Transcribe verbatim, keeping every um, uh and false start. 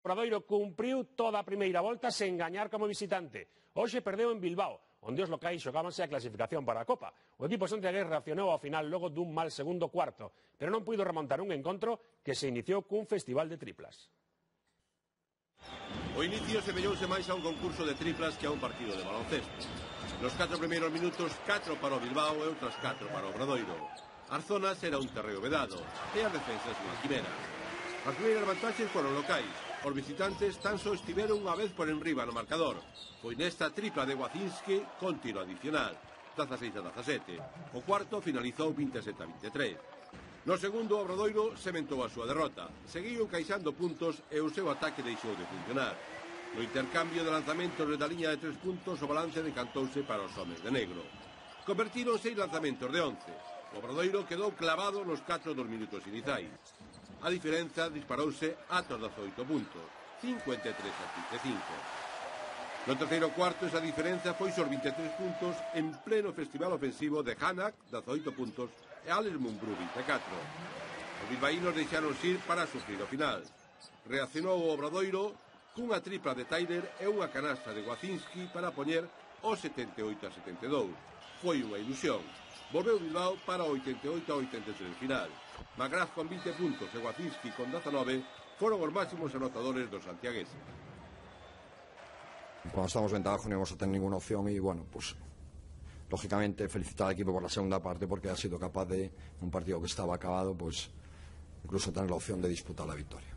Obradoiro cumpriu toda a primeira volta sen gañar como visitante. Hoxe perdeu en Bilbao, onde os locais xogábanse a clasificación para a Copa. O equipo santiagués reaccionou ao final logo dun mal segundo cuarto, pero non puido remontar un encontro que se iniciou cun festival de triplas. O inicio semellouse máis a un concurso de triplas que a un partido de baloncesto. Nos catro primeiros minutos, catro para o Bilbao e outras catro para o Obradoiro. As zonas era un terreo vedado e as defensas unha quimera. As primeiras vantaxes foron locais. Os visitantes tan só estiveron unha vez por enriba no marcador. Foi nesta tripla de Wacinski con tiro adicional, dezaseis a dezasete. O cuarto finalizou veintesete a veintitrés. No segundo, o Obradoiro sementou a súa derrota. Seguiu encaixando puntos e o seu ataque deixou de funcionar. No intercambio de lanzamentos da liña de tres puntos, o balance decantouse para os homes de negro. Convertiron seis lanzamentos de once. O Obradoiro quedou clavado nos catro dos minutos iniciais. A diferenza disparouse ata os dezaoito puntos, cincuenta e tres a vinte e cinco. No terceiro cuarto, esa diferenza foi os vinte e tres puntos en pleno festival ofensivo de Hanak, dezaoito puntos, e Alex Mumbrú, vinte e catro. Os bilbaínos deixaron ir para sufrir o final. Reaccionou o Obradoiro cunha tripla de Tyler e unha canasta de Wacinski para poñer o setenta e oito a setenta e dous. Foi unha ilusión. Volveu Bilbao para o oitenta e oito a oitenta e tres final. Magraz con vinte puntos e Wacinski con dezanove foron os máximos anotadores dos santiagueses. Cuando estamos ventaja no íbamos a tener ninguna opción y bueno, pues lógicamente felicitar al equipo por la segunda parte porque ha sido capaz de, un partido que estaba acabado, pues incluso tener la opción de disputar la victoria.